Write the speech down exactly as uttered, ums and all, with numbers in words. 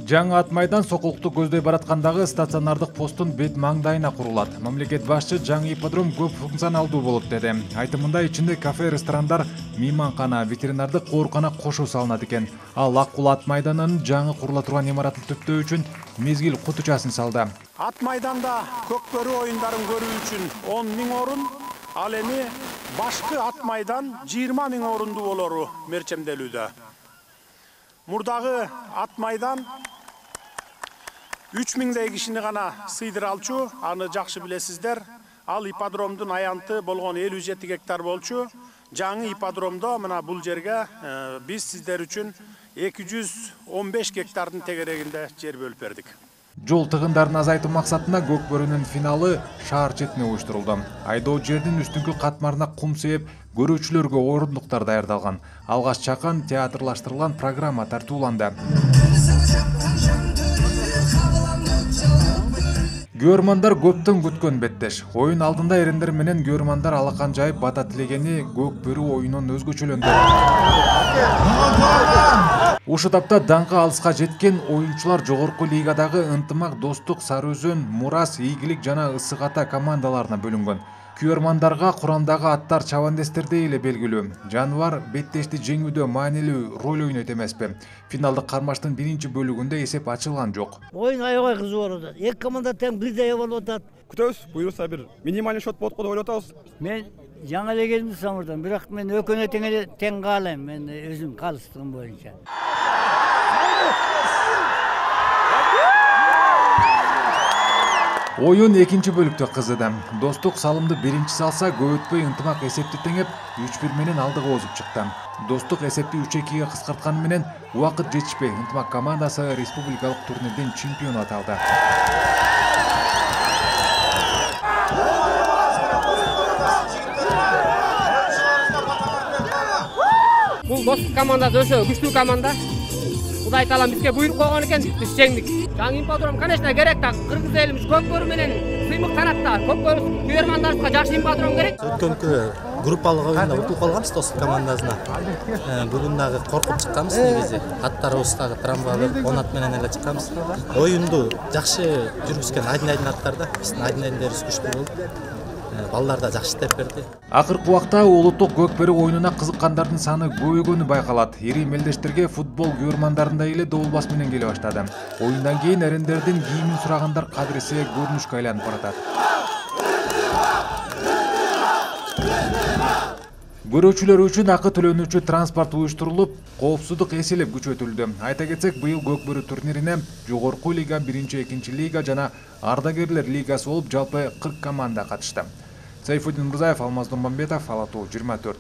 Жаңы ат майдан Сокулукту көздөй бараткандагы стационардык посттун бет маңдайына курулат. Мамлекет башчы жаңы ипподром көп функционалдуу болот деди. Айтымында ичинде кафе, ресторандар, мейманкана, ветеринардык оорукана кошо салынат экен. Ал Аккул ат майданынын жаңы курула турган имаратын төптөө үчүн мезгил кутучасын салды. Ат майданда көкбөрү оюндарын көрүү үчүн он миң орун, ал эми башкы ат майдан жыйырма миң орундуу болору мерчемделүүдө. Мурдагы ат майдан үч миңдей кишини гана сыйдыра алчу, аны жакшы билесиздер. Ал ипподромдун аянты болгон элүү жети гектар болчу. Жаңы ипподромдо мына бул жерге биз сиздер үчүн эки жүз он беш гектардын тегерегинде жер бөлүп бердик. Жол тыгындарын азайтуу максатында көкбөрүнүн финалы шаар четине уюштурулду. Айдоо жердин үстүңкү катмарына кум сээп, көрүүчүлөргө орундуктар даярдалган. Алгаш чакан театрлаштырылган программа тартууланды. Көрмандар көптөн күткөн беттеш. Оюн алдында эрендер менен көрмандар алакан жайып бата тилегени көкбөрү оюнун өзгөчөлөндү. Ушу тапта даңкы алыска жеткен оюнчулар жогорку лигадагы Ынтымак, Достук, Сары Өзөн, Мурас, Ийгилик жана Ысык Ата командаларына бөлүнгөн. Күйөрмандарга курамдагы аттар чабандестердей эле белгилүү. Жаныбар беттешти жеңүүдө маанилүү роль ойнойт эмеспи? Финалдык кармаштын биринчи бөлүгүндө эсеп ачылган жок. Оюн аябай кызык болуп атат. Эки команда тең бирдей болуп атат. Күтөбүз, буюрса бир минималдуу шот болот го деп ойлоп атабыз. Мен жаңы эле келдим Самырдан, бирок мен экөөнө тең эле тең каалайм, мен өзүм калыстыгым боюнча. Оюн экинчи бөлүктө кызыды. Достук салымды биринчи салса, көп өтпөй Ынтымак эсепти теңеп үч бир менен алдыга озуп чыкты. Достук эсепти үч экиге кыскартканы менен убакыт жетишпей Ынтымак командасы республикалык турнирдин чемпиону аталды. Бул Достук командасы өсө күчтүү команда. Кудай таалам бизге буйрук койгон экен, биз жеңдик. Жаңы ипподром, конечно, керек да. Кыргыз элибиз көкбөрү менен сыймык тарапта. Көкбөрү күйөрмандарыбызга жакшы ипподром керек. Өткөнкү группалык оюнда утулуп калганбыз Достук командасына. Бүгүн дагы коркуп чыкканбыз негизи. Аттарыбыздагы травма он ат менен эле чыкканбыз. Оюнду жакшы жүргүзгөн Айдын-Айдын аттар да. Биздин Айдын-Айдындарыбыз күчтүү болду. Балдар да жакшы иштеп берди. Акыркы убакта улуттук көкбөрү оюнуна кызыккандардын саны көбөйгөнү байкалат. Ири мелдештерге футбол күйөрмандарындай эле добулбас менен келе баштады. Оюндан кийин эрендердин кийимин сурагандар кадыресе көрүнүшкө айланып баратат. Көрүүчүлөр үчүн акы төлөнүүчү транспорт уюштурулуп, коопсуздук эселеп күчөтүлдү. Айта кетсек, быйыл көкбөрү турнирине жогорку лига, биринчи, экинчи лига жана ардагерлер лигасы болуп жалпы кырк команда катышты. Сайфуддин Мурзаев, Алмаз Домбамбетов, Ала Тоо жыйырма төрт.